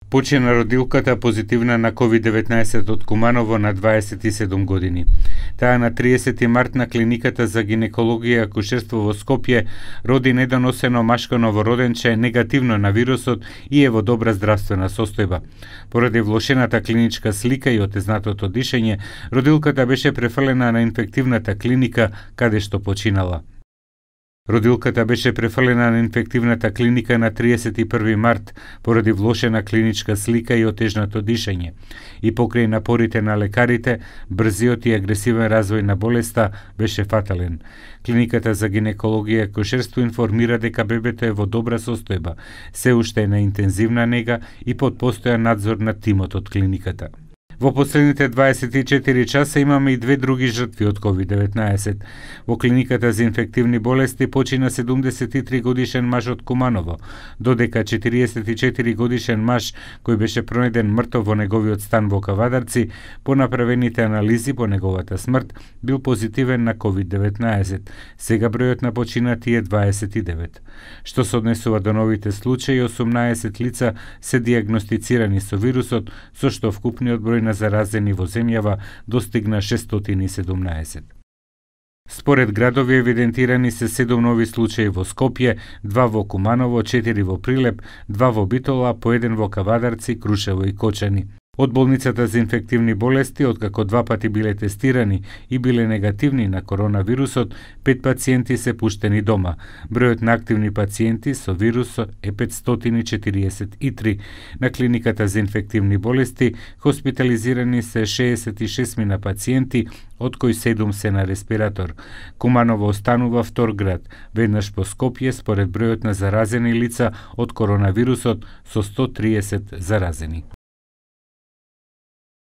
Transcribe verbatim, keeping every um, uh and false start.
Почина родилката позитивна на ковид деветнаесет од Куманово на дваесет и седум години. Таа на триесети март на клиниката за гинекологија и акушерство во Скопје роди недоносено машко новороденче негативно на вирусот и е во добра здравствена состојба. Поради влошената клиничка слика и отезнатото дишење, родилката беше префрлена на инфективната клиника каде што починала. Родилката беше префрлена на инфективната клиника на триесет и први март поради влошена клиничка слика и отежнато дишење. И покрај напорите на лекарите, брзиот и агресивен развој на болеста беше фатален. Клиниката за гинекологија и акушерство информира дека бебето е во добра состојба, се уште е на интензивна нега и под постојан надзор на тимот од клиниката. Во последните дваесет и четири часа имаме и две други жртви од ковид деветнаесет. Во клиниката за инфективни болести почина седумдесет и три годишен маж од Куманово, додека четириесет и четири годишен маж кој беше пронајден мртов во неговиот стан во Кавадарци, по направените анализи по неговата смрт бил позитивен на ковид деветнаесет. Сега бројот на починати е дваесет и девет. Што се однесува до новите случаи, осумнаесет лица се дијагностицирани со вирусот, со што вкупниот број на заразени во земјава достигна шестстотини и седумнаесет. Според градови евидентирани се седум нови случаи во Скопје, два во Куманово, четири во Прилеп, два во Битола, по еден во Кавадарци, Крушево и Кочани. Од болницата за инфективни болести, откако два пати биле тестирани и биле негативни на коронавирусот, пет пациенти се пуштени дома. Бројот на активни пациенти со вирусот е петстотини и четириесет и три. На клиниката за инфективни болести хоспитализирани се шеесет и шест мина пациенти, од кои седум се на респиратор. Куманово останува втор град, веднаш по Скопје според бројот на заразени лица од коронавирусот со сто триесет заразени.